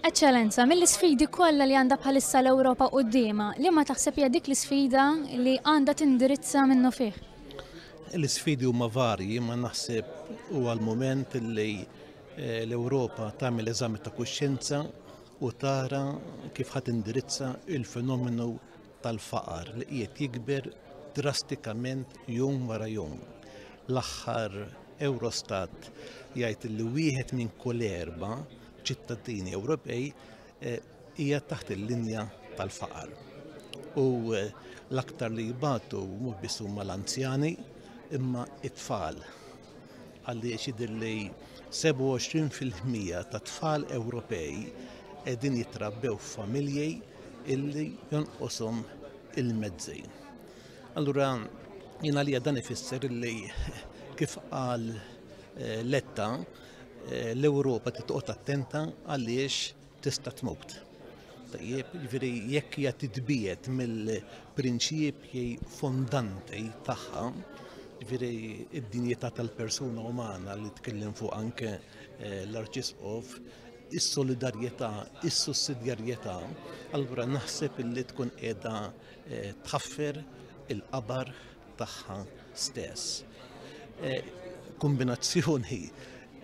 Eċċellenza, mill-isfidi kollha li għandha bħalissa l-Ewropa quddiemha, liema taħseb hija dik l-isfida li għandha tindirizza minnufih? L-isfidi huma varji, ma naħseb huwa l-mument li eh, l-Ewropa tagħmel eżami ta' kuxjenza u tara kif ħadd indirizza il-fenomenu tal-faqar li qiegħed jikber drastikament jum wara jum. L-aħħar Eurostat jgħid li wieħed minn kull erba' ċittadini Ewropej eh, hija taħt il-linja tal-faqar. U eh, l-aktar li jbatu mhux biss huma l-anzjani imma it-tfal. Għaliex jidher li 27% ta' tfal Ewropej qegħdin jitrabbew f'familji illi jonqoshom il-mezzi. Allura jien għalija dan ifisser illi kif qal eh, Letta eh, l-Ewropa titqgħod attenta għaliex tista' tmut. Tajjeb, jiġifieri jekk hija titbiet mill-prinċipji fondanti tagħha, jiġifieri id-dinjità tal-persuna umana li tkellem fuq anke eh, l-Arċisqof, is-solidarjetà, is-sussidjarjetà, allura naħseb illi tkun qiegħda eh, tħaffer il-qabar tagħha stess. Eh, kombinazzjoni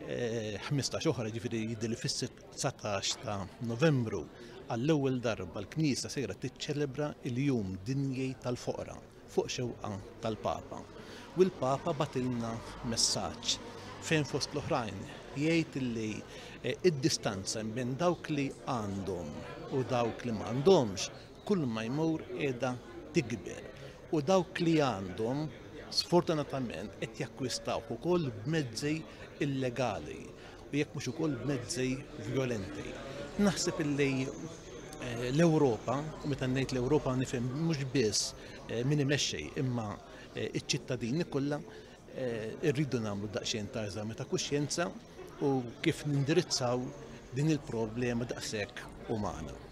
15 eh, oħra ġifieri jidher li fis-19 ta' Novembru għall-ewwel darba l-Knisja sejra tiċċelebra il-Jum Dinji tal-Foqra fuq xewqa tal-Papa. U l-Papa batilna messaġġ fejn fost l-oħrajn jgħid li eh, id-distanza bejn dawk li għandhom u dawk li m'għandhomx kull ma jmur qiegħda tikber u dawk li għandhom sfortunatament qed jakkwistawh ukoll b'mezzi illegali u jekk mhux ukoll b'mezzi vjolenti. Naħseb illi eh, l-Ewropa, u meta ngħid l-Ewropa nifhem mhux biss eh, min imexxi imma eh, iċ-ċittadini kollha irridu nagħmlu daqsxejn ta' eżami ta' kuxjenza u kif nindirizzaw din il-problema daqshekk umana.